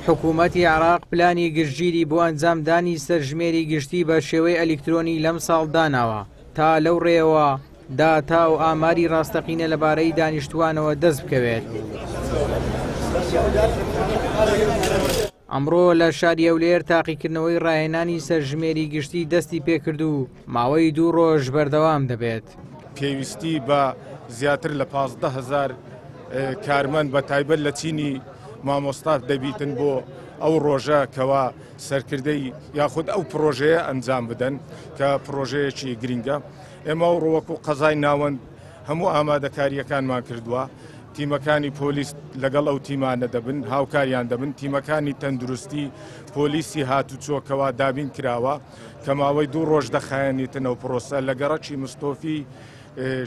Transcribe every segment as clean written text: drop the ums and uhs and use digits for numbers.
حکوومەتی عێراق پلانی گشتگیری بۆ ئەنجامدانی سەرژمێری گشتی بە شێوەی ئەلیکترۆنی لەمساڵ داناوە تا لەو ڕێیەوە داتا و ئاماری ڕاستەقینە لەبارەی دانیشتووانەوە دەست بکەوێت. ئەمڕۆ لە شاری هەولێر تاقیکردنەوەی ڕاهێنانی سەرژمێری گشتی دەستی پێکرد و ماوەی دوو ڕۆژ بەردەوام دەبێت. پێویستی بە زیاتر لە 15 هەزار کارمەند بە تایبەت لە چینی مامۆستا دەبیتن بۆ ئەو ڕۆژە کەوا سەرکردەی یاخود ئەو پرۆژەیە ئەنجام بدەن کە پرۆژەیەکی گرنگە. ئێمە ئەو ڕووەکو قەزای ناوەند هەموو ئامادەکاریەکانمان کردووە. تیمەکانی پۆلیس لەگەڵ ئەو تیمانە دەبن، هاوکاریان دەبن، تیمەکانی تەندروستی، پۆلیسی هاتوچۆ کەوا دابین کراوە کە ماوەی دوو ڕۆژ دەخایەنیتن ئەو پرۆسە لە گەڕەکی مستۆفی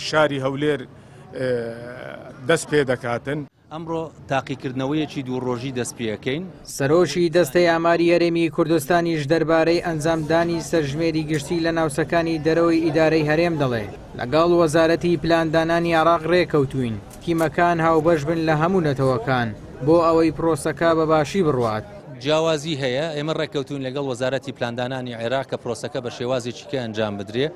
شاری هەولێر دەست پێ دەکاتن. ئەمڕۆ تاقیکردنەوەیەکی دوو ڕۆژی دەست پێەکەین. سەرۆکی دەستەی ئاماری هەرێمی کوردستانیش دەربارەی ئەنجامدانی سەرژمێری گشتی لە ناوچەکانی دەرەوەی ئیدارەی هەرێم دەڵێ لەگەڵ وەزارەتی پلاندانانی عێراق ڕێکەوتوین تیمەکان هاوبەش بن لە هەموو نەتەوەکان بۆ ئەوەی پرۆسەکە بە باشی بڕوات. جیاوازی هەیە، ئێمە ڕێککەوتوین لەگەڵ وەزارەتی پلاندانانی عێراق کە پرۆسەکە بە شێوازێکی کە ئەنجام بدرێ،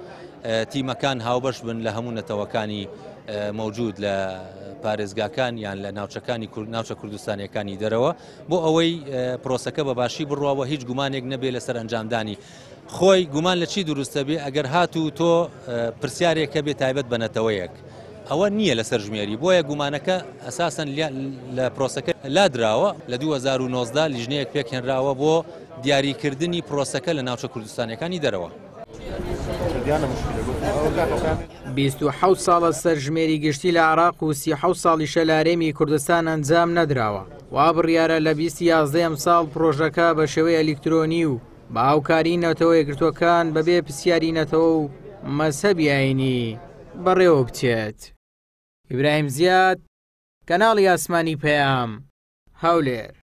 تیمەکان هاوبەش بن لە هەموو نەتەوەکانی مەوجود لە پارێزگاکان یان لە ناوچەکانی ناوچە کوردستانیەکانی دەرەوە بۆ ئەوەی پرۆسەکە بە باشی بڕواوە هیچ گومانێک نەبێ لەسەر ئەنجامدانی. خۆی گومان لە چی دروستە بێ ئەگەر هاتوو تۆ پرسیارێکە بێ تایبەت بە نەتەوەیەک ئەوە نییە لەسەر ژمێری، بۆیە گومانەکە ئەساسەن لە پرۆسەکە لادراوە. لە 2019 لیژنەیەک پێکهێنراوە بۆ دیاریکردنی پرۆسەکە لە ناوچە کوردستانیەکانی دەرەوە. 27 ساڵە سەرژمێری گشتی لە عێراق و 37 ساڵیشە لە هەرێمی کوردستان ئەنجام نەدراوە. وا بڕیارە لە 20 11 ئەمساڵ پرۆژەکە بە شێوەی ئەلیکترۆنی و بە هاوکاری نەتەوە یەکگرتووەکان بەبێ پرسیاری نەتەوە و مەزهەبی ئایینی بەڕێوە بچێت. ئیبراهیم زیاد، کەناڵی ئاسمانی پەیام، هەولێر.